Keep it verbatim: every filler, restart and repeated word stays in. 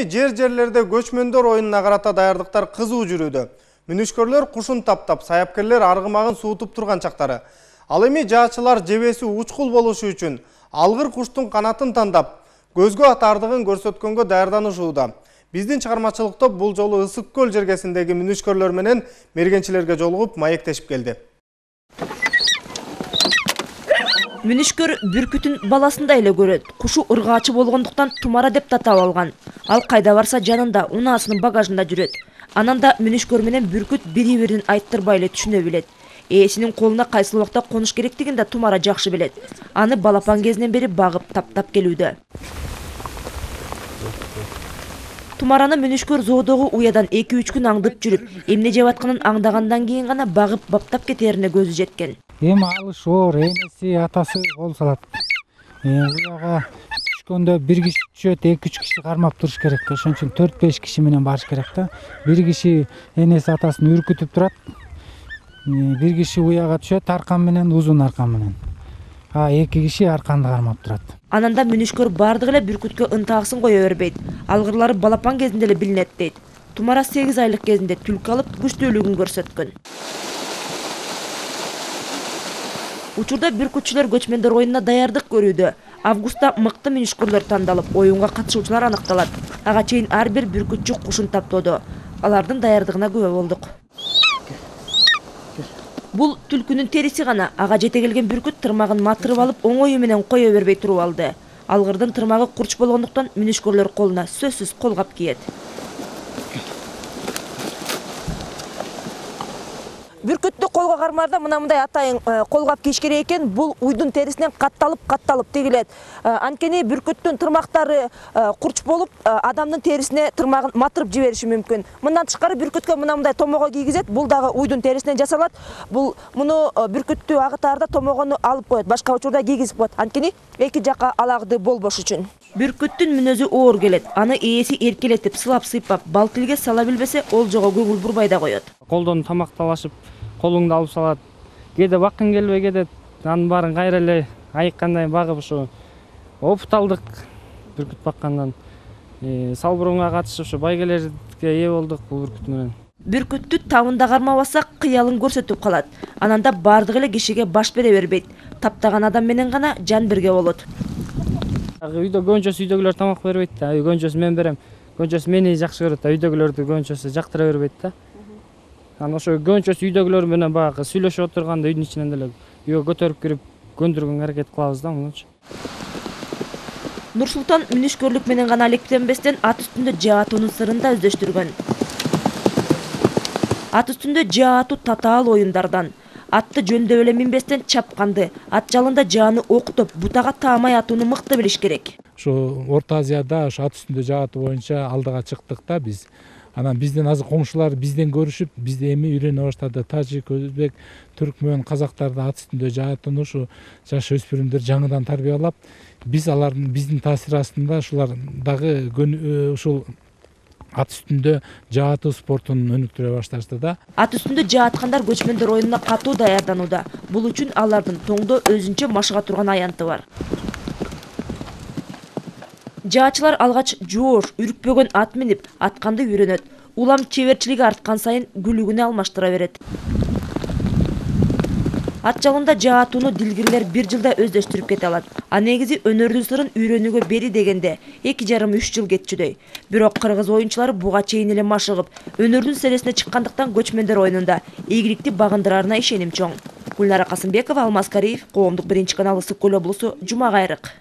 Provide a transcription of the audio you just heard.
эми жер жерлерде көчмөндөр оюнуна карата даярдыктар кызуу жүрүүдө. Мүнүшкөрлөр кушун таптап, саяпкерлер аргымагын суутуп турган чактары. Ал эми жаачылар жебеси учкул болушу үчүн алгыр куштун канатын тандап, көзгө атардыгын көрсөткөнгө даярданышууда. Биздин чыгармачылык топ бул жолу Ысык көл жергесиндеги мүнүшкөрлөр менен мергенчилерге жолугуп маектешип келди. Мүнүшкөр бүркүтүн баласындай эле көрөт. Кушу ыргаачы болгондуктан Тумара деп татап алган. Ал кайда барса жанында унаасынын багажында жүрөт. Анан да мүнүшкөр менен бүркүт бири-бирин айттырбай эле түшүнө билет. Ээсинин колуна кайсыл убакта конуш керектигин да Тумара жакшы билет. Аны балапан кезинен бери багып таптап келүүдө. Тумараны мүнүшкөр зоодогу уядан эки үч күн аңдып жүрүп, эмне жеп атканын аңдагандан кийин гана багып баптап кетерине көзү жеткен. Эми алыш оор, энеси, атасы кол салат. Уяга түшкөндө бир киши түшөт, эки үч киши кармап туруш керек. Ошон үчүн төрт беш киши менен барыш керек да. Бир киши энеси атасын үркүтүп турат. Бир киши уяга түшөт аркан менен, узун аркан менен. А эки киши арканды кармап турат. Анан да мүнүшкөр бардык эле бүркүткө ынтаасын кое бербейт. Алгырлары балапан кезинде эле билинет дейт. Тумара сегиз айлык кезинде түлкү алып күчтүүлүгүн көрсөткөн. Учурда бүркүтчүлөр көчмөндөр оюнуна даярдык көрүүдө. Августта мыкты мүнүшкөрлөр тандалып, оюнга катышуучулар аныкталат. Ага чейин ар бир бүркүтчү кушун таптоодо. Алардын даярдыгына күбө болдук. Бул түлкүнүн териси гана. Ага жете келген бүркүт тырмагын матырып алып, оңою менен кое бербей туруп алды. Алгырдын тырмагы курч болгондуктан мүнүшкөрлөр колуна сөзсүз колгап кийет. Бүркүттү колго кармаарда мына мындай атайын колгап кийиш керек экен. Бул уйдун терисинен катталып, катталып тигилет. Анткени бүркүттүн тырмактары курч болуп, адамдын терисине тырмагын матырып жибериши мүмкүн. Мындан тышкары бүркүткө мына мындай томого кийгизет. Бул дагы уйдун терисинен жасалат. Бул муну бүркүттү агытаарда томогону алып коет, башка учурда кийгизип коет. Анткени эки жакка алагды болбош үчүн. Бүркүттүн мүнөзү оор келет. Аны ээси эркелетип, сылап сыйпап, бал тилге сала билбесе, олжого көңүл бурбай да коет. Колдон тамакталашып, колуңду алып салат. Кээде баккың келбей кетет. Анын баарын кайра эле айыккандай багып ушу опут алдык бүркүт баккандан. Салбурунга катышып ушу байгелерге ээ болдук бул бүркүт менен. Бүркүттү табында кармабаса кыялын көрсөтүп калат. Анан да бардык эле кишиге баш бере бербейт. Таптаган адам менен гана жан бирге болот. Үйдө көнчөсү үйдөгүлөр тамак бербейт да. Көнчөсү мен берем. Көнчөсү мени жакшы көрөт да. Үйдөгүлөрдү көнчөсү жактыра бербейт да. Анан ошо көнчөсү үйдөгүлөр менен баягы сүйлөшүп отурганда үйдүн ичинен деле үйгө көтөрүп кирип көндүргөнгө аракет кылабыз да мунучу. Нурсултан мүнүшкөрлүк менен гана алектенбестен ат үстүндө жаа атуунун сырын да өздөштүргөн. Ат үстүндө жаа атуу татаал оюндардан. Атты жөндөп эле минбестен чапканды, ат жалында жааны октоп, бутага таамай атууну мыкты билиш керек. Ошо Орто Азияда ошо ат үстүндө жаа атуу боюнча алдыга чыктык да биз. Анан бизден азыр коңшулар бизден көрүшүп, бизди эми үйрөнө баштады. Тажик, өзбек, түркмөн, казактарды ат үстүндө жаа атууну ушу жаш өспүрүмдөр жаңыдан тарбиялап, биз алардын биздин таасир астында ушулар дагы ушул ат үстүндө жаа атуу спортун өнүктүрө башташты да. Ат үстүндө жаа аткандар көчмөндөр оюнуна катуу даярданууда. Бул үчүн алардын тоңдо өзүнчө машыга турган аянты бар. Жаачылар алгач жоош, үркпөгөн ат минип, атканды үйрөнөт. Улам чеберчилиги арткан сайын күлүгүнө алмаштыра берет. Ат жалында жаа атууну дилгирлер бир жылда өздөштүрүп кете алат. А негизи өнөрдүн сырын үйрөнүүгө бери дегенде эки жарым үч жыл кетчүдөй. Бирок кыргыз оюнчулары буга чейин эле машыгып, өнөрдүн селесине чыккандыктан көчмөндөр оюнунда ийгиликти багындырарына ишеним чоң. Гүлнара Касымбекова, Алмаз Кариев, Коомдук биринчи канал, Ысык көл облусу, Жума кайрык.